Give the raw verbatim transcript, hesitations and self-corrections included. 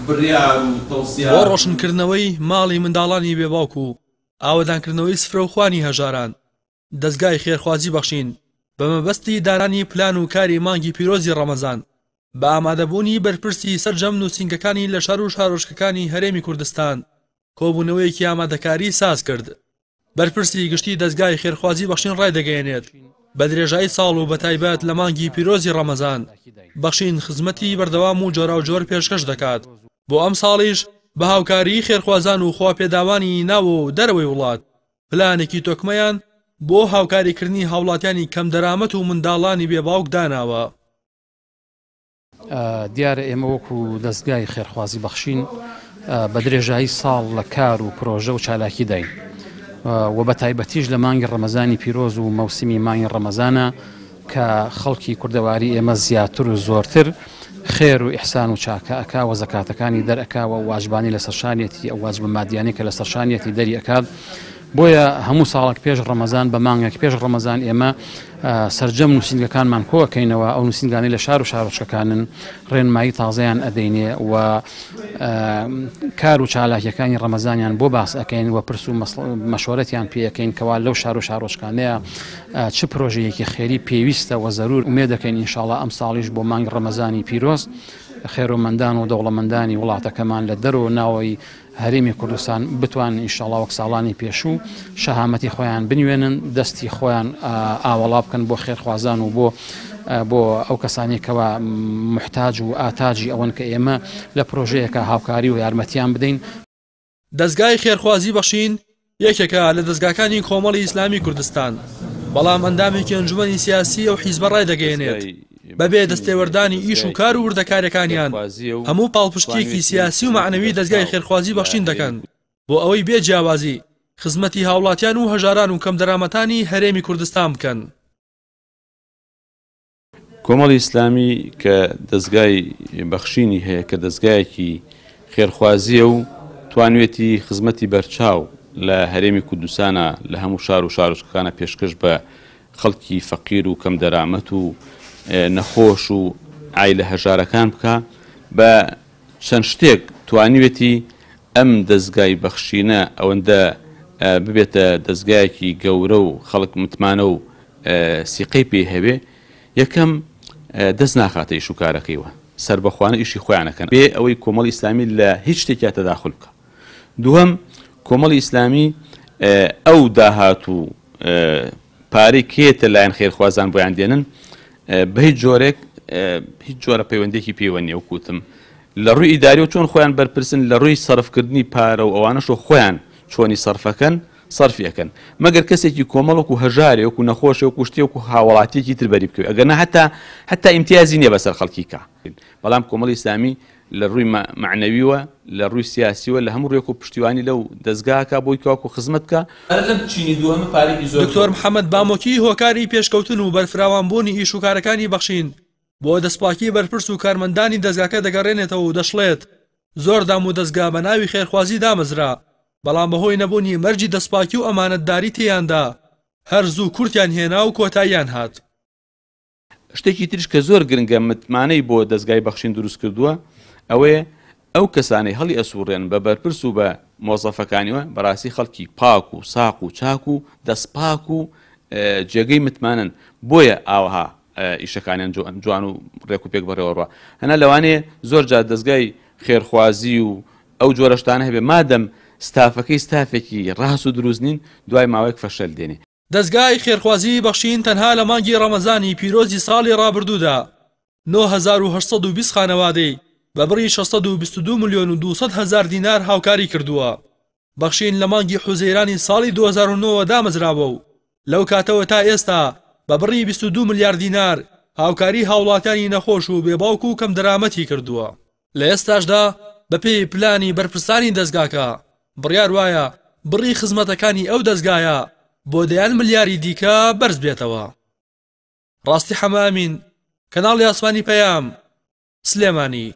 بڕیار و تەوسیات. بۆ ڕۆشنکردنەوەی ماڵی منداڵانی بێ باوک و ئاوەدانکردنەوەی سفرە و خوانی هەژاران، دەزگای خێرخوازی بەخشین بە مەبەستی دانانی پلان و کاری مانگی پیرۆزی ڕەمەزان بە ئامادەبوونی بەرپرسی سەرجەم نووسینگەکانی لە شار و شارۆچکەکانی هەرێمی کوردستان کۆبوونەوەیەکی ئامادەکاری ساز کرد. بەرپرسی گشتی دەزگای خێرخوازی بەخشین ڕایدەگەیەنێت بە درێژایی ساڵ و بەتایبەت لە مانگی پیرۆزی ڕەمەزان بەخشین خزمەتی بەردەوام و جۆراوجۆر پێشکەش دەکات. بۆ ئەم ساڵیش بە هاوکاری خێرخوازان و خواپێداوانی ناوە و دەرەوەی وڵات پلانێکی تۆکمەیان بۆ هاوکاریکردنی هاوڵاتیانی کەمدەرامەت و منداڵانی بێباوک داناوە. دیارە ئێمە وەکو دەزگای خێرخوازی بەخشین بە درێژایی ساڵ لە کار و پرۆژە و چالاکی داین و بە تایبەتیش لە مانگی ڕەمەزانی پیرۆز و مەوسمی مانگی ڕەمەزانە کە خەڵکی کوردەواری ئێمە زیاتر و زۆرتر خێر و ئیحسان و چاکە ئەکا و زەکاتەکانی دەرئەکا و واجبانی لەسەر شانیەتی ئەو واجبە مادیانەی کە لەسەر شانیەتی دەری ئەکات. بۆیە هەموو ساڵێک پێش ڕەمەزان بە مانگێک پێش ڕەمەزان ئێمە سەرجەم نووسینگەکانمان کۆئەکەینەوە، ئەو نووسینگانەی لە شار و شارۆچکەکانن ڕێنمایی تازەیان ئەدەینێ و کار و چالاکیەکانی ڕەمەزانیان بۆ باس ئەەکەین و پرس و مەشوەرەتیان پێ ئەکەین کەوا لەو شار و شارۆچکانەیە چ پرۆژەیەکی خێری پێویستە و زەرور. ئومێد دەکەین ئینشاڵڵا ئەم ساڵیش بۆ مانگی ڕەمەزانی پیرۆز خێرۆمەندان و دەوڵەمەندانی وڵاتەکەمان لە دەرەوە ناوەی هەرێمی کوردستان بتوانن ئینشاڵڵا وەک ساڵانی پێشوو شەهامەتی خۆیان بنوێنن، دەستی خۆیان ئاوەڵا بکەن بۆ خێرخوازان و بۆ بۆ ئەو کەسانێکەوە محتاج و ئاتاجی ئەوەن کە ئێمە لە پرۆژەیەکە هاوکاری و یارمەتیان بدەین. دەزگای خێرخوازی بەخشین یەکێکە لە دەزگاکانی کۆمەڵی ئیسلامی کوردستان، بەڵام ئەندامێکی ئەنجومەنی سیاسی ئەو حیزبە ڕایدەگەیەنێت بەبێ دەستێوەردانی ئیش و کار و وردەکاریەکانیان هەموو پاڵپشتیەکی سیاسی و مەعنەوی دەزگای خێرخوازی بەخشین دەکەن بۆ ئەوەی بێ جیاوازی خزمەتی هاوڵاتیان و هەژاران و کەمدەرامەتانی هەرێمی کوردستان بکەن. کۆمەڵی ئیسلامی کە دەزگای بەخشینی هەیە کە دەزگایەکی خێرخوازیە و توانوێتی خزمەتی بەرچاو لە هەرێمی کوردستانە لە هەموو شار و شارۆچکەکانە پێشکەش بە خەڵکی فەقیر و کەمدەرامەت و نەخۆش و عایلە هەژارەکان بکە، بە چەند شتێک توانیوێتی ئەم دەزگای بەخشینە ئەوەندە ببێتە دەزگایەکی گەورە و خەڵک متمانە و سیقەی پێی هەبێ. یەکەم دەست ناخاتە ئیش و کارەکەیوە، سربەخوانە ئیشی خۆیانەکەن بێ ئەوەی کۆمەڵی ئیسلامی لە هیچ شتێکیا تەداخل بکە. دووەم، کۆمەڵی ئیسلامی ئەو داهات و پارەی کێتە لایەن خێرخوازان بۆیان دێنن بە هیچ جۆرێک هیچ جۆرە پەیوەندێکی پێوە نییە. وەکوتم لە ڕووی ئیداریەوە چۆن خۆیان بەرپرسن لە ڕووی سەرفکردنی پارە و ئەوانەشەوە خۆیان چۆنی سەرفەکەن سەرفیەکەن، مەگەر کەسێکی کۆمەڵ وەکو هەژارێ وەکو نەخۆشێ وەکو شتێ وەکو هاوڵاتیەکی تر بەری بکەوێت، ئەگەر نا حتا حتا ئیمتیازی نییە بەسەر خەڵکی کا. بەڵام کۆمەڵی ئیسلامی لە ڕووی مەعنەویوە لە ڕووی سیاسیوە لە هەموو ڕێک و پشتیوانی لەو دەزگاکە بۆی کاکو خزمەت بکە. دکتۆر محەممەد بامۆکی هۆکاری پێشکەوتن و بەرفراوانبوونی ئیش و کارەکانی بەخشین بۆ دەستپاکی بەرپرس و کارمەندانی دەزگاکە دەگەڕێنێتەوە و دەشڵێت زۆر دام و دەزگا بە ناوی خێرخوازی دامەزرا، بەڵام بەهۆی نەبوونی مەرجی دەستپاکی و ئەمانەتداری تێیاندا هەر زوو کورتیان هێنا و کۆتاییان هات. شتێکی تریش کە زۆر گرنگە متمانەی بۆ دەزگای بەخشین دروست کردووە ئەوەیە ئەو کەسانەی هەڵی ئەسوڕێن بە بەرپرس و بە مۆزەفەکانیوە بەڕاستی خەڵکی پاک و ساق و چاک و دەستپاک و جێگەی متمانن، بۆیە ئاوەها ئیشەکانیان جوان و ڕێک و پێک بەڕێوەڕوە. هەنا لەوانەیە زۆر جار دەزگای خێرخوازی و ئەو جۆرە شتانە هەبێ مادەم ستافەکەی ستافێکی ڕاست و دروست نین دوای ماوەیەک فەشەل دێنێ. دەزگای خێرخوازی بەخشین تەنها لە مانگی ڕەمەزانی پیرۆزی ساڵی ڕابردوودا نۆ هەزار و هەشت سەد و بیست خانەوادەی بە بڕی شەش سەد و بیست و دوو ملیۆن و دوو سەد هەزار دینار هاوکاری کردووە. بەخشین لە مانگی حوزەیرانی ساڵی دوو هەزار و نۆ دامەزراوە و لەو کاتەوە تا ئێستا بە بڕی بیست و دوو ملیار دینار هاوکاری هاوڵاتیانی نەخۆش و بێباوک و کەمدەرامەتی کردووە. لە ئێستاشدا بەپێی پلانی بەرپرسانی دەزگاکە بڕیار وایە بڕی خزمەتەکانی ئەو دەزگایە بۆ دەیان ملیاری دیکە بەرز بێتەوە. ڕاستی حەمامین، کەناڵی ئاسمانی پەیام، سلێمانی.